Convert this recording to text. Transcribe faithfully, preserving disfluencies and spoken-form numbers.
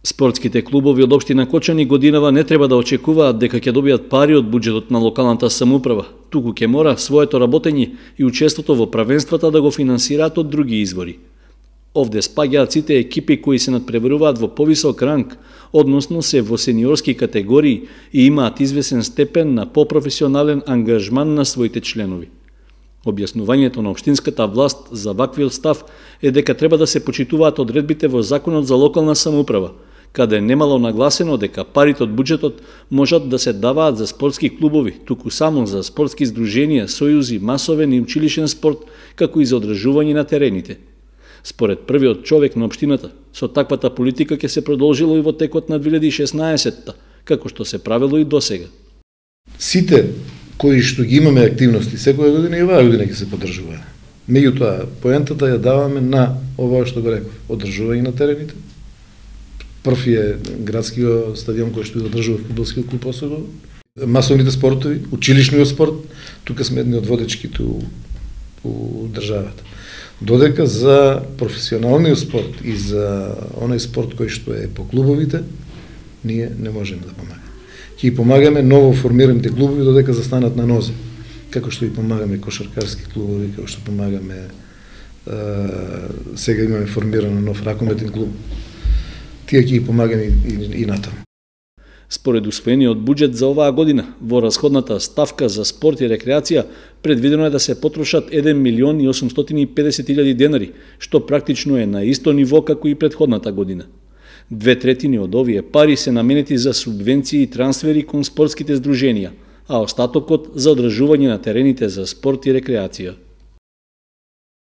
Спортските клубови од општина Кочани годинава не треба да очекуваат дека ќе добијат пари од буџетот на локалната самоуправа, туку ќе мора своето работење и учеството во правенствата да го финансираат од други извори. Овде спаѓаат сите екипи кои се надпреваруваат во повисок ранг, односно се во сениорски категории и имаат извесен степен на попрофесионален ангажман на своите членови. Објаснувањето на општинската власт за ваквиот став е дека треба да се почитуваат одредбите во Законот за локална самоуправа, каде немало нагласено дека парите од буџетот можат да се даваат за спортски клубови, туку само за спортски здруженија, сојузи, масовен и училишен спорт, како и за одржување на терените. Според првиот човек на општината, со таквата политика ќе се продолжило и во текот на две илјади и шеснаесетта, како што се правило и досега. Сите кои што ги имаме активности секоја година и оваа година ќе се поддржуваат. Меѓутоа, поентата ја даваме на ова што го реков, одржување на терените. Прв е градскиот стадион кој што го одржува фудбалскиот клуб Осогово, масовните спортови, училишниот спорт, тука сме едни од водечките у, у државата. Додека за професионалниот спорт и за оној спорт кој што е по клубовите, ние не можеме да помагаме. Ќе помагаме ново формираните клубови додека застанат на нозе, како што и помагаме кошаркарски клубови, како што помагаме е, сега имаме формирано нов ракометен клуб. Тие ќе помагаме и, и, и натаму. Според усвоениот буџет за оваа година, во расходната ставка за спорт и рекреација, предвидено е да се потрошат еден милион и осумстотини и педесет илјади денари, што практично е на исто ниво како и претходната година. Две третини од овие пари се наменети за субвенции и трансфери кон спортските здруженија, а остатокот за одржување на терените за спорт и рекреација.